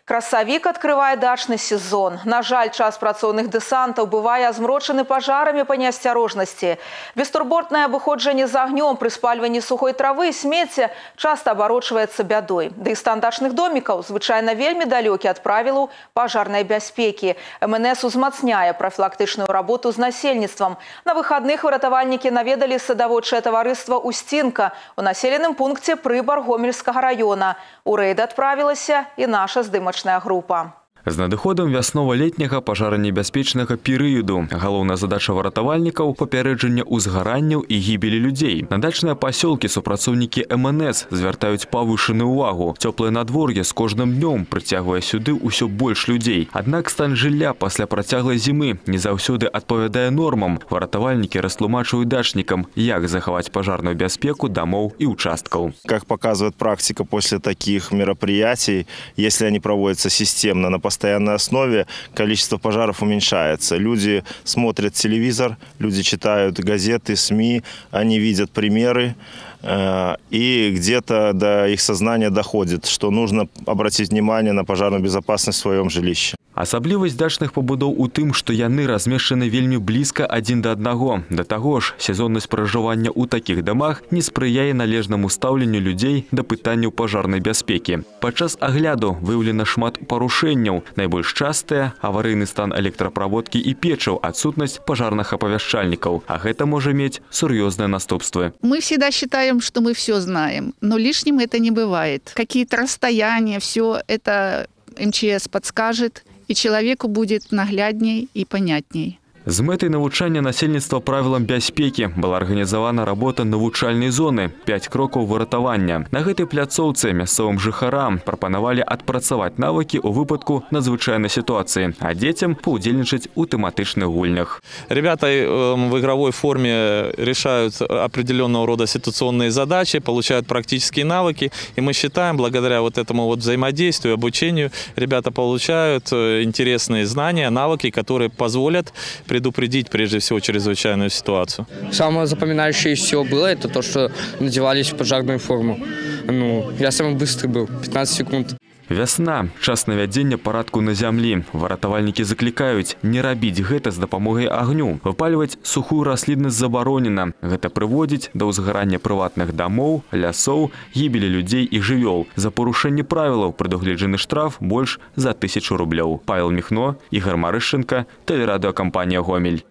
Красавік открывае дачны сезон. На жаль, час працоўных дэсантаў бывае змрочаны пажарамі па неасцярожнасці. Бестурботнае абыходжанне з агнём пры спальванні сухой травы і смецця часта абарочваецца бядой. Ды і стан дачных домікаў звычайна вельмі далёкі ад правілаў пажарнай бяспекі. МНС узмацняе прафілактычную работу з насельніцтвам. На выхадных выратавальнікі наведалі садаводчае таварыства «Устінка» у населеным пункце Прыбар Гомельскага района. У рэйд адправілася і наша здымачная група. З надыходам вяснова-летняга пажаранебяспечнага перыяду галоўная задача выратавальнікаў – папярэджання ўзгаранняў і гібелі людзей. На дачныя пасёлкі супрацоўнікі МНС звяртаюць павышаную ўвагу. Цёплае надвор'е з кожным днём прыцягвае сюды ўсё больш людзей. Аднак стан жылля пасля працяглай зімы не заўсёды адпавядае нормам. Выратавальнікі растлумачваюць дачнікам, як захаваць пажарную бяспеку домов и участков. Как показывает практика, после таких мероприятий, если они проводятся системно, на постоянной основе, количество пожаров уменьшается. Люди смотрят телевизор, люди читают газеты, СМИ, они видят примеры, и где-то до их сознания доходит, что нужно обратить внимание на пожарную безопасность в своем жилище. Асаблівасць дачных пабудоў у тым, што яны размешчаны вельмі блізка адзін да аднаго. Да таго ж, сезоннасць пражывання ў такіх дамах не спрыяе належнаму стаўленню людзей да пытанняў пажарнай бяспекі. Падчас агляду выяўлена шмат парушэнняў. Найбольш частыя – аварыйны стан электраправодкі і печаў, адсутнасць пажарных апавяшчальнікаў. А гэта можа мець сур'ёзныя наступствы. Мы всегда считаем, что мы все знаем, но лишним это не бывает. Какие-то расстояния, все это МЧС подскажет, и человеку будет наглядней и понятней. З мэтай навучання насельніцтва правілам бяспекі была арганізавана работа навучальнай зоны 5 крокаў выратавання. На гэтай пляцоўцы мясцовым жыхарам прапанавалі адпрацаваць навыкі ў выпадку надзвычайнай ситуации, а детям поудзельнічаць у тэматычных гульнях. Ребята в игровой форме решают определенного рода ситуационные задачи, получают практические навыки, и мы считаем, благодаря вот этому вот взаимодействию, обучению, ребята получают интересные знания, навыки, которые позволят предупредить прежде всего чрезвычайную ситуацию. Самое запоминающееся было это то, что надевались в пожарную форму. Я самый быстрый был, 15 секунд. Вясна – час навядзення парадку на зямлі. Выратавальнікі заклікаюць не рабіць гэта з дапамогай агню. Выпальваць сухую расліннасць забаронена. Гэта прыводзіць да ўзгарання прыватных дамоў, лясоў, гібелі людзей і жывёл. За парушэнне правілаў прадугледжаны штраф больш за 1000 рублёў. Павел Міхно, Ігор Марышченко, тэлерадыёкампанія «Гомель».